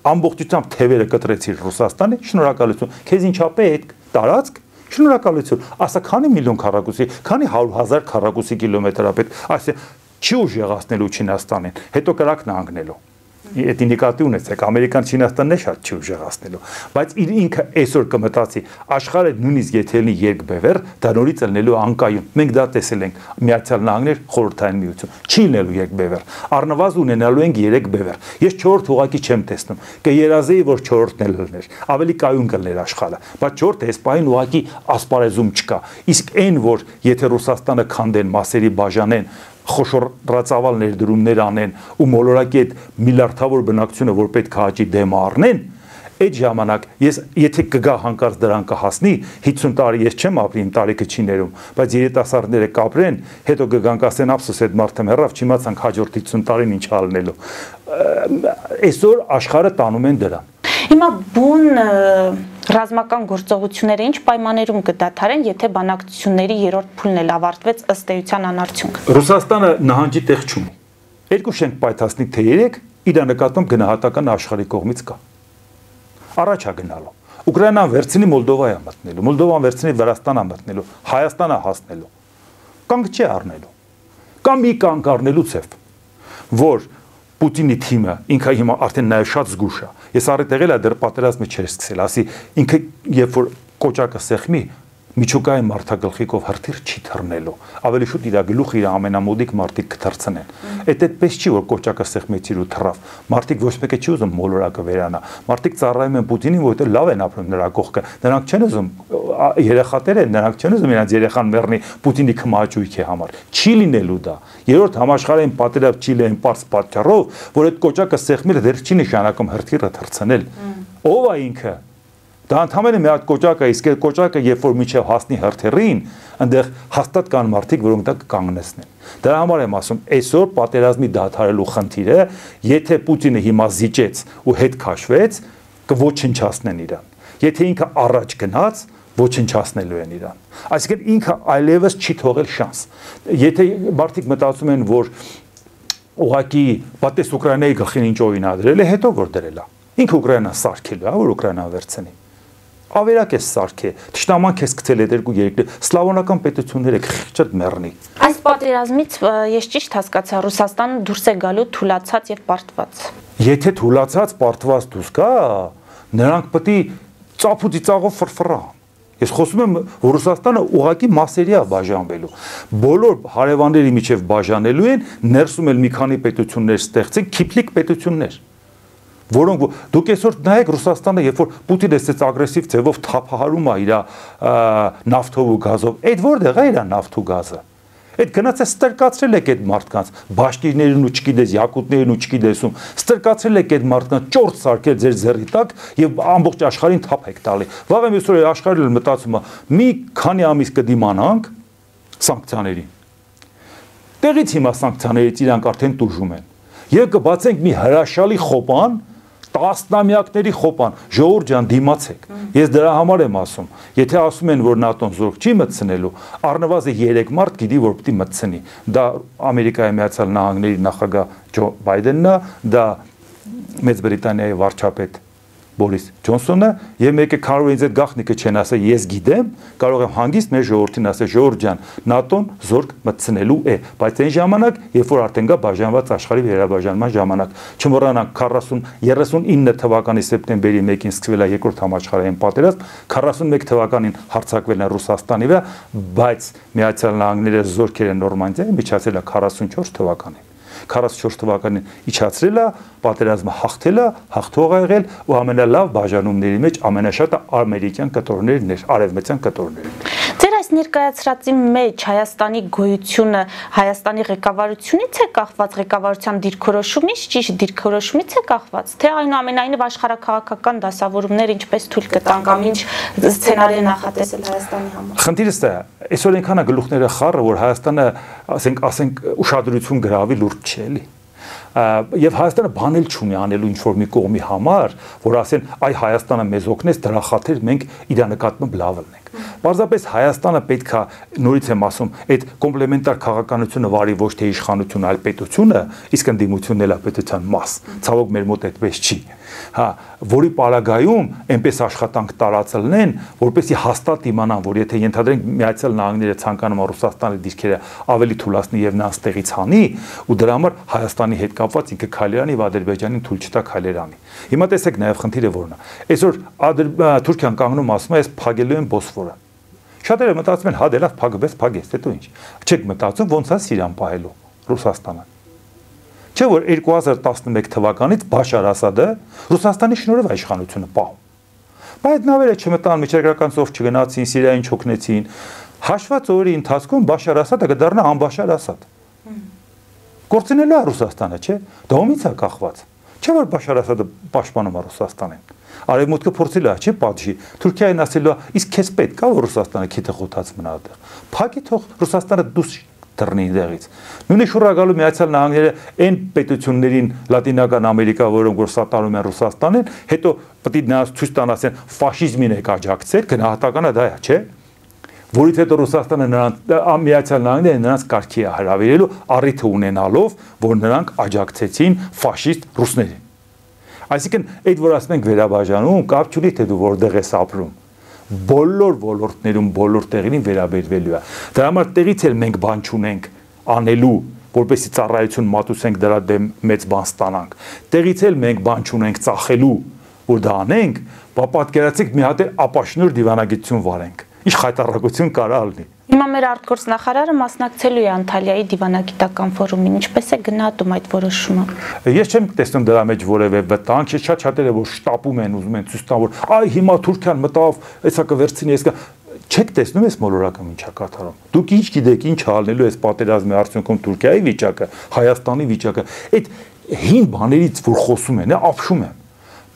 ամբողջությամբ թևերը կտրեցիր Ռուսաստանի, շնորհակալություն, քեզ ինչա պետք, տարածք, շնորհակալություն, ասա քանի միլիոն քառակուսի, քանի հարյուր հազար քառակուսի կիլոմետր է պետք, այսինքն չի ուժեղացնելու Չինաստանին, հետո կրակն անգնելու։ Այդ ինդիկատիվ ունեցեք, Ամերիկան Չինաստանն է շատ չի ուժեղացնելու, բայց իր ինքը այսօր կմտածի, աշխարհը նույնիսկ եթե լինի երկբևեռ, դա նորից ելնելու անկայուն։ Մենք դա տեսել ենք Միացյալ Նահանգներ, Խորհրդային Միություն, չի լինելու երկբևեռ, առնվազն ունենալու ենք երեք բևեռ։ Ես չորրորդ ուղակի չեմ տեսնում, կերազեի, որ չորրորդն էլ լներ, ավելի կայուն կլներ աշխարհը, բայց չորրորդը այս պահին ուղակի ասպարեզում չկա։ Իսկ այն, որ եթե Ռուսաստանը քանդեն, մասերի բաժանեն, խոշորացավալ ներդրումներ անեն ու մոլորակի այդ միլիարդավոր բնակչությունը, որ պետք է հաճի դեմ առնեն, այդ ժամանակ ես եթե կգա հանկարծ դրան կհասնի, հիսուն տարի ես չեմ ապրի, իմ տարիքը չի ներում, բայց երիտասարդները կապրեն, հետո կգան կասեն ափսոս այդ մարդը մեռավ, չիմացանք հաջորդ հիսուն տարին ինչ ալնելու։ Այսօր աշխարհը տանում են դրան։ Հիմա բուն ռազմական գործողությունները ինչ պայմաններում կդադարեն, եթե բանակցությունների երրորդ փուլն էլ ավարտվեց ըստ էության անարդյունք։ Ռուսաստանը նահանջի տեղ չունի։ Երկու շենք պայթասնի թե երեք իր նկատմամբ գնահատական աշխարհի կողմից կա։ Առաջ է գնալու։ Ուկրաինան վերցնի Մոլդովա է մտնելու, Մոլդովան վերցնի Վրաստան է մտնելու, Հայաստան է հասնելու։ Կանգ չի առնելու։ Կամ մի կանգ առնելու ցև, որ Պուտինի թիմը ինքը հիմա արդեն նաև շատ զգուշ է։ Ես առիթ եղել է դեռ պատերազմը չէր սկսել, ասի ինքը երբ որ կոճակը սեղմի, միջուկային մարդագլխիկով հրթիռ չի թռնելու։ Ավելի շուտ իր գլուխը իր ամենամոդիկ մարդիկ կթռցնեն։ Այդ այդպես չի, որ կոճակը սեղմեցիր ու թռավ։ Մարդիկ ոչ մեկը չի ուզում մոլորակը վերանա։ Մարդիկ ծառայում են Պուտինին, որովհետև լավ են ապրում նրա կողքը։ Նրանք չեն ուզում երեխաներ են, նրանք չեն ուզում իրենց երեխան մեռնի Պուտինի քմաճույքի համար։ Չի լինելու դա։ Երրորդ համաշխարհային պատերազմ չի լինի པարզ պատճառով, որ այդ կոճակը սեղմելը դեռ չի նշանակում հրթիռը թռցնել։ Ո՞վ է ինքը։ Դա ընդհանրապես մի հատ կոճակ է, իսկ այդ կոճակը երբ որ միջև հասնի հրթիռին, այնտեղ հաստատ կան մարդիկ, որոնք դա կկանգնեցնեն։ Դրա համար եմ ասում, այսօր պատերազմի դադարելու խնդիրը, եթե Պուտինը հիմա զիջեց ու հետ քաշվեց, կոչնչացնեն իրան։ Եթե ինքը առաջ գնաց, ոչնչացնելու են իրան։ Այսինքն ինքը այլևս չի թողել շանս։ Եթե մարդիկ մտածում են, որ ուղղակի պատես Ուկրաինայի գլխին ինչ օրինադրել է, հետո որ դրել է։ Ինքը Ուկրաինան սարքելու է, որ Ուկրաինան վերցնի։ Ավերակ է սարքե, թշնաման քեզ գցել այդ երկու երկրներ, սլավոնական պետությունները քիչ մեռնի։ Այս պատերազմից ես ճիշտ հասկացա, Ռուսաստանը դուրս է գալու թուլացած եւ պարտված։ Եթե թուլացած, պարտված դուրս գա, նրանք պետք է ծափուծի ծաղով ֆրֆռան։ Ես խոսում եմ, որ Ռուսաստանը ուղղակի մասերի է բաժանվելու։ Բոլոր հարևանների միջև բաժանելու են, ներսում էլ մի քանի պետություններ ստեղծեն, քիփլիկ պետություններ։ Որոնք դուք այսօր նայեք Ռուսաստանը, երբ որ Պուտինը այսպես ագրեսիվ ձևով թափահարում է իր նավթով ու գազով, այդ որտեղ է իր նավթ ու գազը։ Այդ գնաց է ստրկացրել եք այդ մարդկանց, բաշկիրներին ու չգիտես, յակուտներին ու չգիտեսում, ստրկացրել եք այդ մարդկանց, ճորտ սարքել ձեր ձեռի տակ եւ ամբողջ աշխարհին թափ եք տալի։ Վաղը մյուսօր աշխարհը մտածում է, մի քանի ամիս կդիմանանք սանկցիաներին։ Տեղից հիմա սանկցիաներից իրանք արդեն տուժում են։ Եվ կբացենք մի հրաշալի խոպան, տասնամյակների խոպան, ժողովուրդ ջան, դիմացեք։ Ես դրա համար եմ ասում, եթե ասում են, որ ՆԱՏՕ-ն զորք չի մտցնելու, առնվազն երեք մարդ գիտի, որ պետք է մտցնի։ Դա Ամերիկայի Միացյալ Նահանգների նախագահ Ջո Բայդենն է, դա Մեծ Բրիտանիայի վարչապետ Բորիս Ջոնսոնը եւ մեկը կարող է ինձ այդ գաղտնիքը չեն ասել ես գիտեմ կարող եմ հանգիստ մեր ժողովրդին ասել ժողովուրդ ջան նատոն զորք մտցնելու է բայց այն ժամանակ երբ որ արդեն գա բաժանված աշխարհի վերաբաժանման ժամանակ չմոռանանք քառասուն երեսունինը թվականի սեպտեմբերի մեկին սկսվել է երկրորդ համաշխարհային պատերազմ քառասունմեկ թվականին հարձակվել են Ռուսաստանի վրա բայց Միացյալ Նահանգները զորքերը Նորմանդիայի միջացել է քառասունչորս թվականին քառասունչորս թվականին իջացրել է, պատերազմը հաղթել է, հաղթող ա եղել ու ամենալավ բաժանումների մեջ ամենաշատը ամերիկյան կտորներն էր, արևմտյան կտորներն։ Ձեր այս ներկայացրածի մեջ Հայաստանի գոյությունը Հայաստանի ղեկավարությունից է կախված, ղեկավարության դիրքորոշումից, ճիշտ դիրքորոշումից է կախված, թե այնուամենայնիվ աշխարհաքաղաքական դասավորումներ ինչպես թույլ կտան կամ ինչ սցենարի նախատեսել Հայաստանի համար։ Խնդիրը սա է, այսօր այնքան է գլուխները խառը, որ Հայաստանը, ասենք, ասենք ուշադրություն գրավի լուրջ չէ, էլի։ Եվ Հայաստանը բանել չունի անելու ինչ-որ մի կողմի համար, որ ասեն, այ Հայաստանը մեզ օգնեց, դրա խաթեր մենք իր նկատմամբ լավ լինենք։ Պարզապես Հայաստանը պետք է, նորից եմ ասում, այդ կոմպլեմենտար քաղաքականությունը վարի ոչ թե իշխանություն, այլ պետությունը, իսկ ընդդիմությունն էլ է պետության մաս։ Ցավոք մեր մոտ այդպես չի։ Հա, որի պարագայում այնպես աշխատանք տարածելն, որպեսզի հաստատ իմանան, որ եթե ենթադրենք Միացյալ Նահանգները ցանկանում է Ռուսաստանի դիրքերը ավելի թույլատնի եւ նրանց տեղից հանի, ու դրա համար Հայաստանի հետ կապված ինքը քայլերանի եւ Ադրբեջանին թույլ չտա քայլերանի։ Հիմա տեսեք նաեւ խնդիրը որն է։ Այսօր Թուրքիան կանգնում ասում է, ես փակելու եմ Բոսֆորը։ Շատերը մտածում են, հա դե լավ փակվեց, փակեց, դե դու ինչ։ Չեք մտածում ոնց է Սիրիան պահելու Ռուսաստանը։ Չէ՞ որ երկու հազար տասնմեկ թվականից Բաշար Ասադը Ռուսաստանի շնորհիվ իշխանությունը պահում։ Բայց նավերը չմտան, միջերկրական ծով չգնացին, Սիրիային չօգնեցին։ Հաշված օրերի ընթացքում Բաշար Ասադը կդառնա անբաշար Ասադ։ Կորցնելու է Ռուսաստանը, չէ՞։ Դա ումից է կախված։ Չէ՞ որ Բաշար Ասադը պաշտպանում է Ռուսաստանին։ Արևմուտքը փորձել է, չի պատժի։ Թուրքիային ասելու է, իսկ քեզ պետք է որ Ռուսաստանը քիթը խոթած մնա այդտեղ։ Փակի թող Ռուսաստանը դուս դռնի դեղից։ Նույնիսկ շուռագալու Միացյալ Նահանգները այն պետություններին Լատինական Ամերիկա, որոնք որ սատարում են Ռուսաստանին, հետո պետք է նրանց ցույց տան ասեն ֆաշիզմին եք աջակցել, գնահատականը դա է, չէ՞։ Որից հետո Ռուսաստանը նրանց Միացյալ Նահանգները նրանց կարգի է հրավիրելու առիթը ունենալով, որ նրանք աջակցեցին ֆաշիստ ռուսներին։ Այսինքն այդ որ ասում ենք վերաբաժանում, կապ չունի թե դու որտեղ ես ապրում։ Բոլոր ոլորտներում բոլոր տեղերին վերաբերվելու է։ Դրա համար տեղից էլ մենք բան չունենք անելու, որպեսզի ծառայություն մատուցենք դրա դեմ մեծ բան ստանանք։ Տեղից էլ մենք բան չունենք ծախելու, որ դա անենք, բա պատկերացեք մի հատ ապաշնոր դիվանագիտություն վարենք։ Ինչ խայտառակություն կարա լինի։ Հիմա մեր արտգործնախարարը մասնակցելու է Անտալիայի դիվանագիտական ֆորումին, ինչպես է գնահատում այդ որոշումը։ Ես չեմ տեսնում դրա մեջ որևէ վտանգ, ես շատ շատերը որ շտապում են, ուզում են ցույց տան, որ այ հիմա Թուրքիան մտավ, հեսա կվերցնի, ես կա չեք տեսնում ես մոլորակը ինչա կատարում։ Դուք ինչ գիտեք, ինչ ալնելու է պատերազմի արդյունքում Թուրքիայի վիճակը, Հայաստանի վիճակը, այդ հին բաներից որ խոսում են, ապշում են։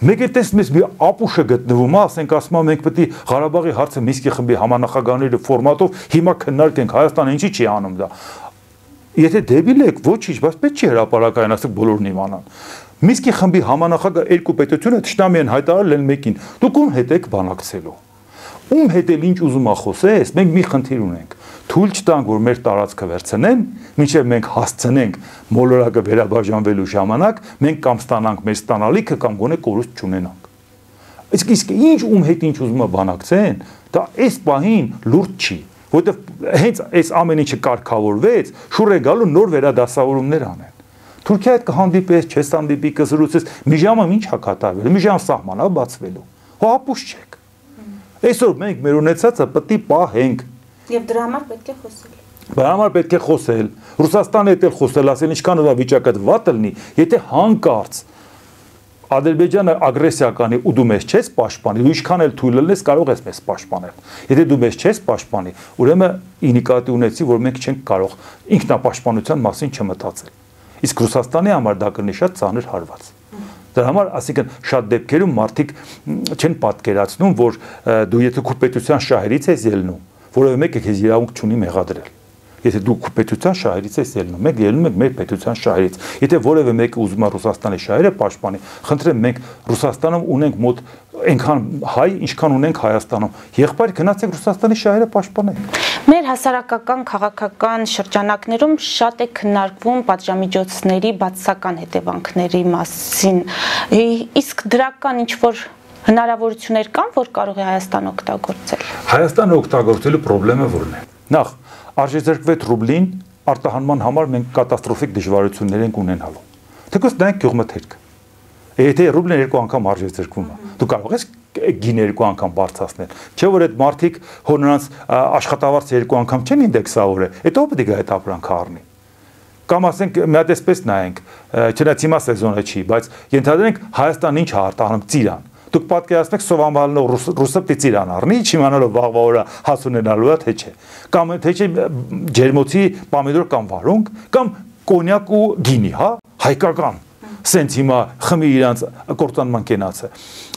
Մեկ է տեսնում ես մի ապուշը գտնվում է, ասենք ասում եմ մենք պետք է Ղարաբաղի հարցը Մինսկի խմբի համանախագահների ֆորմատով հիմա քննարկենք, Հայաստանը ինչի չի անում դա։ Եթե դեբիլ եք, ոչինչ, բայց պետք չի հրապարակային, ասեք բոլորն իմանան։ Մինսկի խմբի համանախագահ երկու պետությունը ճշտամի են հայտարարել են մեկին։ Դուք ում հետ եք բանակցելու։ Ում հետ էլ ինչ ուզում ա խոսես, մենք մի խնդիր ունենք։ Թույլ չտանք, որ մեր տարածքը վերցնեն, մինչև մենք հասցնենք մոլորակը վերաբաժանվելու ժամանակ, մենք կամ ստանանք մեր ստանալիքը կամ գոնե կորուստ չունենանք։ Իսկ իսկ ինչ ում հետ ինչ ուզում ա բանակցեն, դա այս պահին լուրջ չի, որովհետև հենց այս ամեն ինչը կարգավորվեց, շուռ է գալու նոր վերադասավորումներ անեն։ Թուրքիա հետ կհանդիպես, չես հանդիպի, կզրուցես, մի ժամը ինչ ա կատարվելու, մի ժամ սահմանա բացվելու։ Հո ապուշ չեք։ Այսօր մենք մեր ունեցածը պետք է պահենք։ Եվ դրա համար պետք է խոսել։ Դրա համար պետք է խոսել։ Ռուսաստանը հետ էլ խոսել, ասել ինչքան ով վիճակը վատ լինի, եթե հանկարծ Ադրբեջանը ագրեսիա կանի ու դու մեզ չես պաշտպանի, ու ինչքան էլ թույլ լինես կարող ես մեզ պաշտպանել։ Եթե դու մեզ չես պաշտպանի, ուրեմն ինիկատի ունեցի, որ մենք չենք կարող ինքնապաշտպանության մասին չմտածել։ Իսկ Ռուսաստանի համար դա կլինի շատ ծանր հարված։ Դրա համար, ասիկան շատ դեպքերում մարդիկ չեն պատկերացնում, որ դու եթե քո պետության շահերից ես ելնում, որովհետև մեկը քեզ իրավունք չունի մեղադրել։ Եթե դու քո պետության շահերից ես ելնում, մենք ելնում ենք մեր պետության շահերից։ Եթե որևէ մեկը ուզում է Ռուսաստանի շահերը պաշտպանի, խնդրեմ մենք Ռուսաստանում ունենք մոտ այնքան հայ, ինչքան ունենք Հայաստանում։ Եղբայր գնացեք Ռուսաստանի շահերը պաշտպանեք։ Մեր հասարակական քաղաքական շրջանակներում շատ է քննարկվում պատժամիջոցների բացասական հետևանքների մասին։ Իսկ դրական ինչ որ Հնարավորություններ կան, որ կարող է Հայաստանը օգտագործել։ Հայաստանը օգտագործելու խնդիրը որն է։ Նախ, արժեզրկվեց ռուբլին արտահանման համար մենք կատաստրոֆիկ դժվարություններ ենք ունենալու։ Թեկուզ նայեք գյուղմթերքը։ Եթե ռուբլին երկու անգամ արժեզրկվում է, դու կարող ես գին երկու անգամ բարձրացնել։ Չէ՞ որ այդ մարդիկ հոր նրանց աշխատավարձը երկու անգամ չեն ինդեքսավորել, հետո պետք է այդ ապրանքը առնի։ Կամ ասենք մի հատ էսպես նայենք, չնայած հիմա սեզոնը չի, բայց ենթադրենք Հայաստանն ինչ է արտահանում ծիրան։ Դուք պատկերացնեք սովամալնող ռուսը պիտի ծիրան առնի, չիմանալով վաղվա օրը հաց ունենալու է թե չէ։ Կամ թե չէ ջերմոցի պամիդոր կամ վարունգ, կամ կոնյակ ու գինի, հա, հայկական։ Սենց հիմա խմի իրանց կործանման կենացը։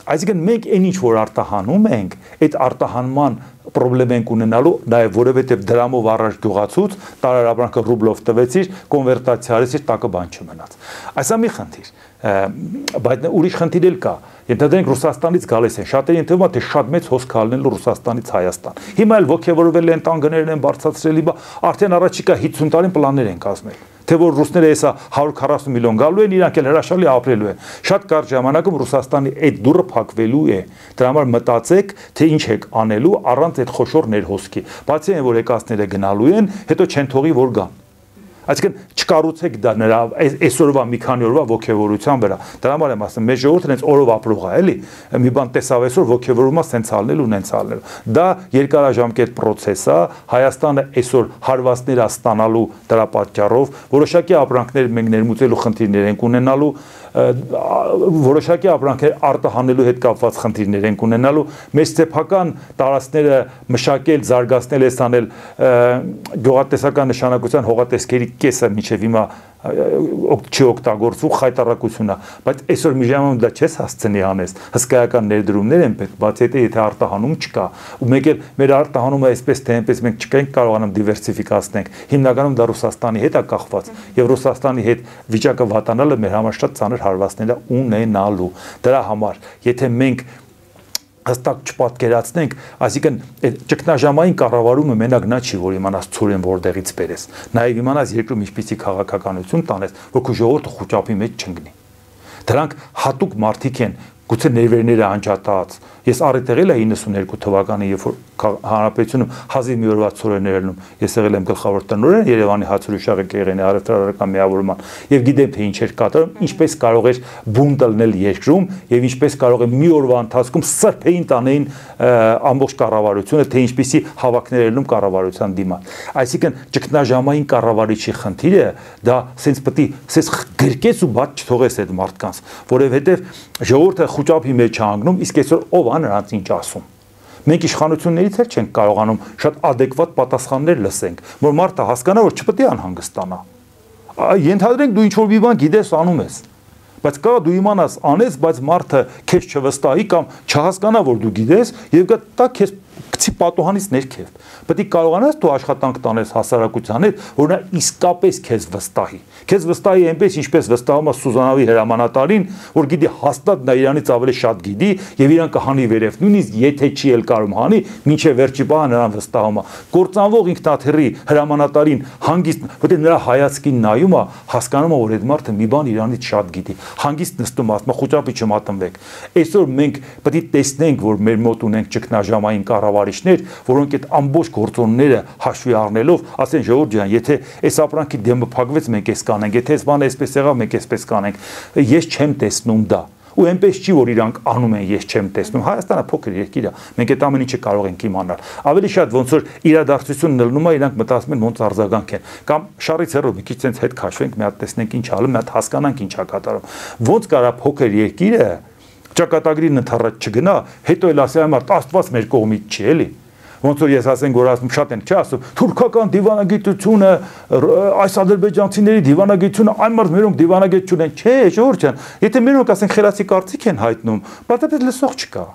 Այսինքն մենք այն ինչ որ արտահանում ենք, այդ արտահանման խնդրեմ ենք ունենալու, նաև որովհետև դրամով առաջ գյուղացուց տարարաբրանքը ռուբլով տվեցիր, կոնվերտացիա արեցիր, տակը բան չմնաց։ Այսա մի խնդիր, բայց ուրիշ խնդիր էլ կա։ Ենթադրենք Ռուսաստանից գալիս են, շատերի ընթերում թե շատ մեծ հոսք կալնելու Ռուսաստանից Հայաստան։ Հիմա էլ ոգևորվել են, տանկերներ են բարձրացրել, արդեն առաջիկա հինգ տարին պլաններ են կազմել։ Թե որ ռուսները հեսա հարյուր քառասուն միլիոն գալու են, իրանք էլ հրաշալի ապրելու են։ Շատ կարճ ժամանակում Ռուսաստանի այդ դուռը փակվելու է։ Դրա համար մտածեք, թե ինչ եք անելու առանց այդ խոշոր ներհոսքի։ Բացի այն որ եկածները գնալու են, հետո չեն թողի որ գան։ Այսինքն չկառուցեք դա նրա այսօրվա մի քանի օրվա ոգևորության վրա։ Դրա համար եմ ասում, մեր ժողովուրդը հենց օրով ապրող է, էլի։ Մի բան տեսավ այսօր ոգևորումա սենց ալնել ու նենց ալնել։ Դա երկարաժամկետ process է, Հայաստանը այսօր հարվածներ է ստանալու դրա պատճառով, որոշակի ապրանքներ մենք ներմուծելու խնդիրներ ենք ունենալու, որոշակի ապրանքներ արտահանելու հետ կապված խնդիրներ ենք ունենալու, մեր սեփական տարածքները մշակել, զարգացնել, էսանել գյուղատնտեսական նշանակության հողատեսքերի կեսը մինչև հիմա չի օգտագործվում խայտարակություն է, բայց այսօր մի ժամանակ դա չես հասցնի անես, հսկայական ներդրումներ են պետք, բացի այդ եթե արտահանում չկա, ու մեկ էլ մեր արտահանումը այսպես թե այնպես մենք չկենք կարողանամ դիվերսիֆիկացնենք, հիմնականում դա Ռուսաստանի հետ է կախված, եւ Ռուսաստանի հետ վիճակը վատանալը մեր համար շատ ծանր հարվածներ է ունենալու, դրա համար, եթե մենք հստակ չպատկերացնենք, այսինքն այդ ճգնաժամային կառավարումը մենակ նա չի, որ իմանաս ցորեն որտեղից բերես, նաև իմանաս երկրում ինչպիսի քաղաքականություն տանես, որ քո ժողովուրդը խոճապի մեջ չընկնի։ Դրանք հատուկ մարդիկ են, գուցե ներվերները անջատած։ Ես առիթեղել եմ իննսուններկու թվականին, երբ որ հանրապետությունում հազիվ մի օրվա ցորեններ ելնում, ես եղել եմ գլխավոր տնօրեն Երևանի հացուրիշաղի կեղենի առևտրական միավորման եւ գիտեմ թե ինչ էր կատարում, ինչպես կարող էր բուն տլնել երկրում եւ ինչպես կարող է մի օրվա ընթացքում սրբեին տանեին ամբողջ կառավարությունը, թե ինչպիսի հավաքներ ելնում կառավարության դիմաց։ Այսինքն ճգնաժամային կառավարիչի խնդիրը դա սենց պետք է սենց գրկես ու բաց չթողես այդ մարդկանց, որովհետեւ ժողովուրդը խոճապի մեջ է անգնում, իսկ այսօր ով է նրանց ինչ ասում։ Մենք իշխանություններից էլ չենք կարողանում շատ adekvat պատասխաններ լսենք, որ մարդը հասկանա, որ չպետք է անհանգստանա։ Ենթադրենք դու ինչ որ մի բան գիտես, անում ես, բայց կա դու իմանաս անես, բայց մարդը քեզ չվստահի կամ չհասկանա, որ դու գիտես, եւ դա քեզ գցի պատոհանից ներքև։ Պետք է կարողանաս դու աշխատանք տանես հասարակության հետ, որ նա իսկապես քեզ վստահի։ Քեզ վստահի այնպես, ինչպես վստահում է Սուզանավի հրամանատարին, որ գիտի հաստատ նա իրանից ավելի շատ գիտի եւ իրան կհանի վերև, նույնիսկ եթե չի էլ կարում հանի, մինչեւ վերջի բանը նրան վստահում է։ Կործանվող ինքնաթիռի հրամանատարին հանգիստ, որտեղ նրա հայացքին նայում է, հասկանում է, որ այդ մարդը մի բան իրանից շատ գիտի։ Հանգիստ նստում ասում է, խոճապի չմատնվեք։ Այսօր մենք պետք է տեսնենք, որ մեր մոտ ունենք ճգնաժամային կառավարիչներ, որոնք այդ ամբողջ գործոնները հաշվի առնելով, ասեն ժողովուրդ ջան, եթե այս ապրանքի դեմը փակվեց, մենք էս կանենք, եթե այս բանը այսպես եղավ, մենք այսպես կանենք։ Ես չեմ տեսնում դա։ Ու այնպես չի, որ իրանք անում են, ես չեմ տեսնում։ Հայաստանը փոքր երկիր է, մենք այդ ամեն ինչը կարող ենք իմանալ։ Ավելի շատ ոնց որ իրադարձությունն լնում է, իրանք մտածում են ոնց արձագանք են։ Կամ շարից հեռու մի քիչ ցենց հետ քաշվենք, մի հատ տեսնենք ինչ ալում, մի հատ հասկանանք ինչ է կատարում։ Ոնց կարա փոքր երկիրը ճակատագրին ընդառաջ չգնա, հետո էլ ասի այ մարդ Աստված մեր կողմից չի, էլի։ Ոնց որ ես ասենք որ ասում շատ են չի ասում թուրքական դիվանագիտությունը այս ադրբեջանցիների դիվանագիտությունը այն մարդ մերոնք դիվանագիտ չունեն չէ ժողովուրդ ջան եթե մերոնք ասենք խելացի կարծիք են հայտնում բայց այդպես լսող չկա